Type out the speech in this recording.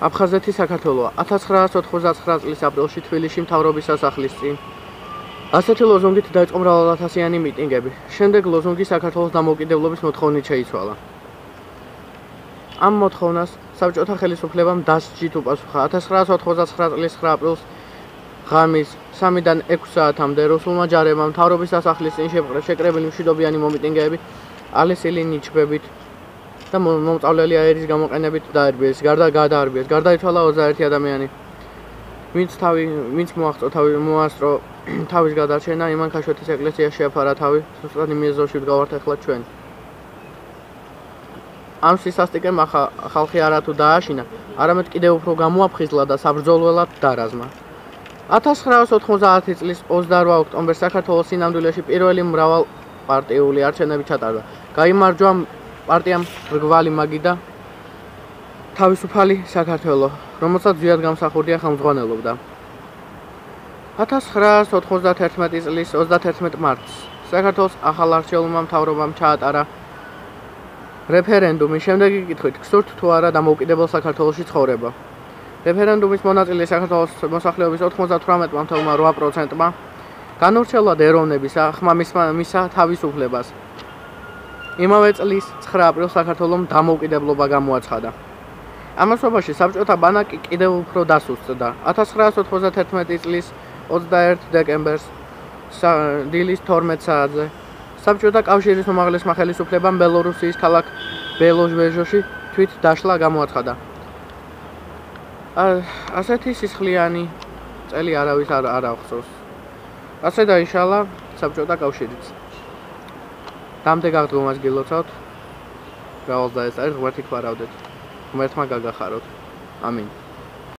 აფხაზეთი საქართველოა 1999 წლის აპრილში თბილისში მთავრობის სასახლის წინ. ასეთი ლოზუნგით დაიწყო მრავალათასიანი მიტინგები. შემდეგ ლოზუნგი საქართველოს დამოუკიდებლობის მოთხოვნით შეიცვალა. ამ მოთხოვნას საბჭოთა ხელისუფლებამ დასჯით უპასუხა 1999 წლის 9 აპრილს ღამის 3-დან 6 საათამდე რუსულმა ჯარებმა მთავრობის სასახლის წინ შეკრებილი მშვიდობიანი მომიტინგეები ალესილი ნიჩბებით და მომწავლელი აერის გამოყენებით დაარბიეს. გადაარბიეს. გარდაიცვალა 21 ადამიანი. ვინც მოასწრო თავის გადარჩენა, იმან ქაშვეთის ეკლესიაში შეაფარა თავი, ზუსტად იმ ეზოში ვდგავართ ახლა ჩვენ. ამ სისასტიკემ ხალხი არათუ დააშინა, არამედ კიდევ უფრო გამოაფხიზლა და საბრძოლველად დარაზმა. 1990 წლის 28 ოქტომბერს საქართველოს სინამდვილეში პირველი მრავალპარტიული არჩევნები ჩატარდა. გაიმარჯვა პარტიამ რგვალი მაგი და თავისუფალი საქართველო, რომელსაც ზიად გამსახურდია ხელმძღვანელობდა. 1991 წლის 31 მარტს საქართველოს ახალ არჩეულმა მთავრობამ ჩაატარა რეფერენდუმი. შემდეგი კითხვით, გსურთ თუ არა დამოუკიდებელ საქართველოში ცხოვრება. რეფერენდუმის მონაწილე საქართველოს მოსახლეობის 98.8%-მა განურჩევლად ეროვნების ახმა მისცა თავისუფლებას. იმავე წლის 9 აპრილს საქართველომ დამოუკიდებლობა გამოაცხადა. ამასობაში საბჭოთა ბანაკი კიდევ უფრო დასუსტდა. 1991 წლის 21 დეკემბერს დილის 12 საათზე საბჭოთა კავშირის უმაღლესმა ხელისუფლებამ ბელორუსიის ქალაქ ბელოჟეჟოში თვით დაშლა გამოაცხადა. ასეთი სისხლიანი წელი არავის არ აღწევს. ასე დაიშალა საბჭოთა კავშირიც. დამდეგ აღდგომას გილოცავთ. გავალ და ეს არის ღმერთი გვარავდეთ. ღმერთმა გაგახაროთ. ამინ.